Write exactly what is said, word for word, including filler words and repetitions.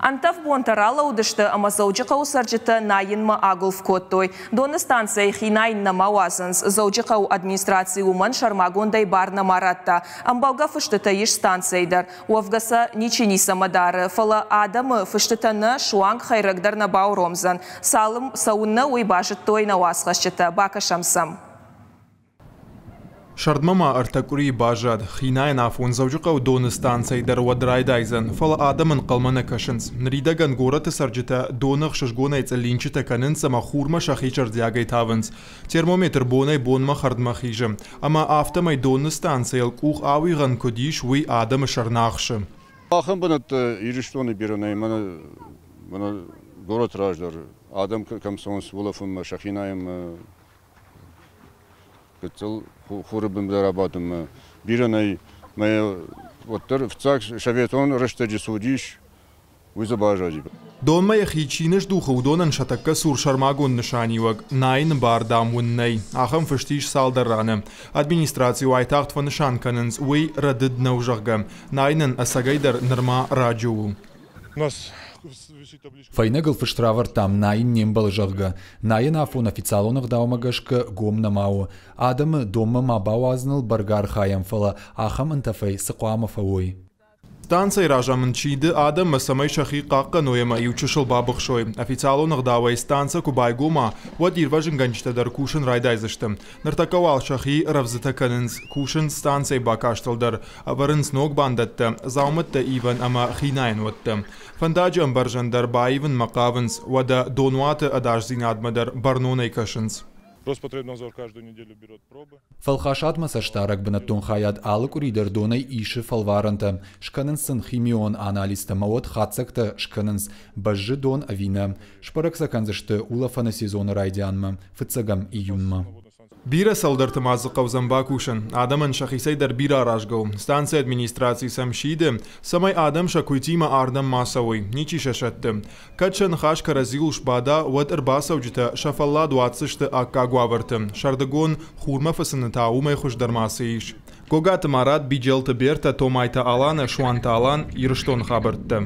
Ӕнтӕф бонтӕ ралӕудысты ӕмӕ Дзӕуджыхъӕуы цӕрджытӕ найынмӕ агуылф кодтой. Доны станцӕйы хи найын нӕма уадзынц. Дзӕуджыхъӕуы администраци уымӕн сӕрмагондӕй бар нӕма радта. Ӕмбӕлгӕ фыстытӕ ис станцӕйы дӕр. Уӕвгӕ сӕ ничи ницӕмӕ дары, фӕлӕ адӕмы фыстытӕ нӕ, суанг хӕйрӕг дӕр нӕ бауромдзӕн. Цалым цӕуыннӕ, уый базыдтой нӕ уацхӕсджытӕ. Бакӕсӕм сӕм. Сӕрдмӕ ма ӕртӕ къуырийы баззад. Хинайӕн афон Дзӕуджыхъӕуы доны станцӕйы дӕр уӕд райдайдзӕн, фӕлӕ адӕм ӕнхъӕлмӕ нӕ кӕсынц. Ныридӕгӕн горӕты цӕрджытӕ доны ӕхсызгонӕй цъыллинчытӕ кӕнынц ӕмӕ хурмӕ сӕхи зӕрдиагӕй тавынц. Термометр бонӕй-бонмӕ хӕрдмӕ хизы. Ӕмӕ афтӕмӕй доны станцӕйыл къух ауигъӕн куыд ис, уый адӕмы сӕр нӕ ахсы. Ахӕм бынӕттӕ Ирыстоны бирӕ нӕй, мӕнӕ мӕнӕ горӕты раздӕр адӕм кӕм цӕуынц улӕфынмӕ, сӕхи найынмӕ, гыццыл хуры бын дӕр абадынмӕ бирӕ нӕй. Мӕ уӕддӕр фыццаг советон рӕстӕджы цы уыдис, уый дзы баззади. Донмӕ йӕхи чи ныздухы, уыдонӕн сӕ тӕккӕ цур сӕрмагонд нысаниуӕг найыны бар, дам, уын нӕй. Ахӕм фыст ис цалдӕр раны. Администраци уайтагъд фӕнысан кӕнынц, уый рӕдыд нӕу, зӕгъгӕ. Найынӕн ӕцӕгӕйдӕр нырма раджы у. Фӕйнӕгыл фыст равӕрдтам, найын не мбӕлы, зӕгъгӕ. Найӕн афон официалон ӕгъдаумӕ гӕсгӕ гом нӕма у. Адӕмы донмӕ ма бауадзыныл бӕргӕ архайӕм, фӕлӕ ахӕм ӕнтӕфӕй цы хъуамӕ фӕуой. Станцӕйы разамынд сиды адӕммӕ, цӕмӕй сӕхи хъахъхъӕной ӕмӕ иу чысыл бабыхсой. Официалон ӕгъдауӕй станцӕ куы байгома, уӕд ирвӕзынгӕнджытӕ дӕр кусын райдайдзысты. Ныртӕккӕ уал сӕхи рӕвдзытӕ кӕнынц, кусынц станцӕйы бакастыл дӕр, ӕвӕрынц ног бандӕттӕ, дзаумӕттӕ ивӕн ӕмӕ хинайӕн уӕттӕ. Фӕндаджы ӕмбӕрзӕн дӕр баивынмӕ хъавынц, уӕдӕ донуаты ӕдасдзинадмӕ дӕр бӕрнонӕй кӕсынц. Роспотребнадзор каждую неделю берет пробы. Фӕлхасадмӕ цӕстдарӕг бынӕттон хайад алы къуыри дӕр донӕй исы фӕлварӕнтӕ. Скӕнынц сын химион анализтӕ ӕмӕ уӕд хатдзӕгтӕ скӕнынц, бӕззы дон ӕви нӕ. Сбӕрӕг сӕ кӕндзысты улӕфӕны сезоны райдианмӕ, фыццӕгӕм июнмӕ. Бирӕ цӕуылдӕрты ма дзы хъӕудзӕн бакусын. Адӕмӕн сӕхицӕй дӕр бирӕ аразгӕ у. Станцӕйы администраци сӕм сиды, цӕмӕй адӕм сӕ куыйтимӕ ардӕм ма цӕуой, ничи сӕ сӕтты. Кӕд сӕ ныхас кӕрӕдзиуыл сбада, уӕд ӕрбацӕуджытӕ сӕ фӕллад уадздзысты аккаг уавӕрты. Сӕрдыгон хурмӕ фыцыны та уымӕй хуыздӕр ма цы ис. Гогаты Марат, Биджелты Бертӕ, Томайты Алана, Суанты Алан, Ирыстоны хабӕрттӕ.